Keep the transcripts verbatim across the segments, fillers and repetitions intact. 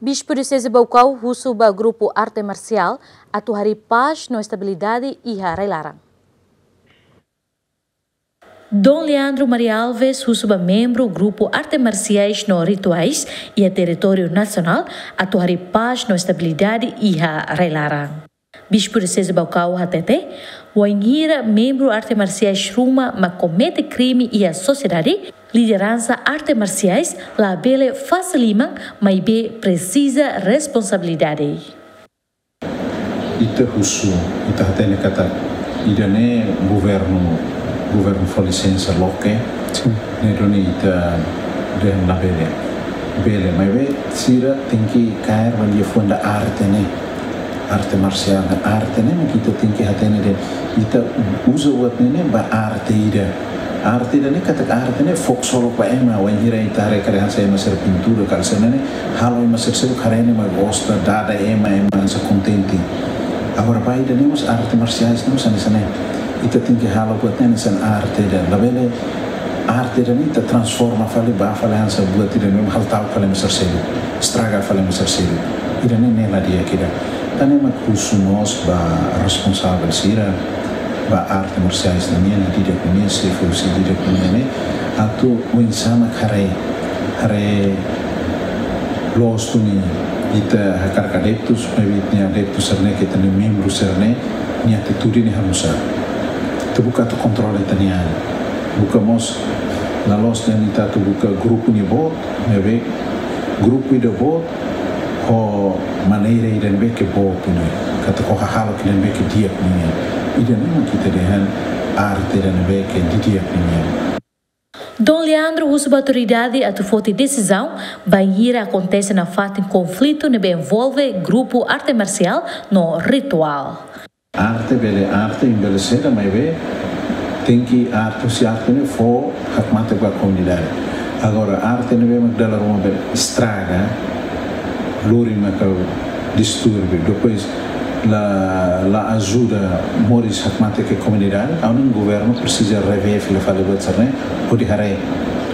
Bispu Dioseze Baucau husu ba grupu arte marsiál atu harii pás no estabilidade iha rai-laran. Dom Leandro Mari Alves husu ba membru grupu arte marsiais no rituais iha territóriu nasionál atu harii pás no estabilidade iha rai-laran. Bispu Dioseze Baucau hatete, wainhira membru arte marsiais ruma mak komete krime iha sosiedade, lideransa arte marsiais labele fase liman, maibé presiza responsabilidade. Ita husu, ita hatene katak ida-ne'e governu, governu fó lisensa loke, sin, ne'e duni ita dehan labele. Bele, maibé sira tenke kaer ba liafuan da arte ne'e. Arte marsiál ne'e, arte ne'e mak ita tenke hatene dehan ita uza buat ne'e ne'e ba arte ida. Arte ida-ne'e katak arte ne'e fó ksolok ba ema, wainhira ita haree karik hanesan ema sira pintura ka hanesan ne'e ne'e, halo ema sira seluk haree ne'e mak gosta, dada ema, ema hanesan kontente. Agora ba ida-ne'e mós arte marsiais ne'e mós hanesan ne'e. Ita tenke halo buat ne'e hanesan arte ida. Labele arte ida-ne'e ita transforma fali ba fali hanesan buat ida ne'e halo ta'uk fali ema sira seluk, estraga fali ema sira seluk. Ida-ne'e ne'e la di'ak ida. Tan ne'e mak husu mós ba responsavel sira, ba arte marsiais nian, nia di'ak nian, xefe husi di'ak nian ne'e, atu oinsá mak haree, haree loos duni ita hakarak adeptus, maibé ita-nia adeptus sira-ne'e ka ita-nia membru sira-ne'e, nia atitude ne'e hanusá. Ita buka atu kontrola ita-nia an. Buka mós la loos dehan ita atu buka grupu nia boot, maibé grupu ida boot, ho maneira ida ne'ebé ke boot nian, katak ho hahalok ida ne'ebé ke di'ak nian. Ida-ne'e mak ita dehan arte ida ne'ebé ke didi'ak nian. Dom Leandro husu ba autoridade atu foti desizaun bainhira akontese nafatin konflitu ne'ebé envolve grupu arte marsiál no rituál. Arte bele arte, ema bele seda, maibé tenke arte, husi arte ne'e fó hakmatek ba komunidade. Agora, arte ne'ebé mak dala ruma bele estraga, lori maka distúrbiu, depois la, la ajuda moris hakmatek ba komunidade, ha'u hanoin governu presiza revee fila fali buat sira-ne'e, hodi haree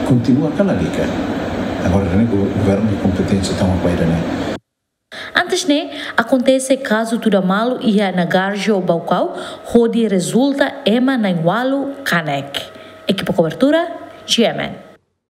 kontinua ka lalika. Agora ne'e go-, governu nia kompeténsia tama ba ida-ne'e. Antes ne'e, akontese kazu tuda malu iha Nagarjo Baucau, hodi rezulta ema na'in-ualu kanek. Ekipa kobertura, G M N.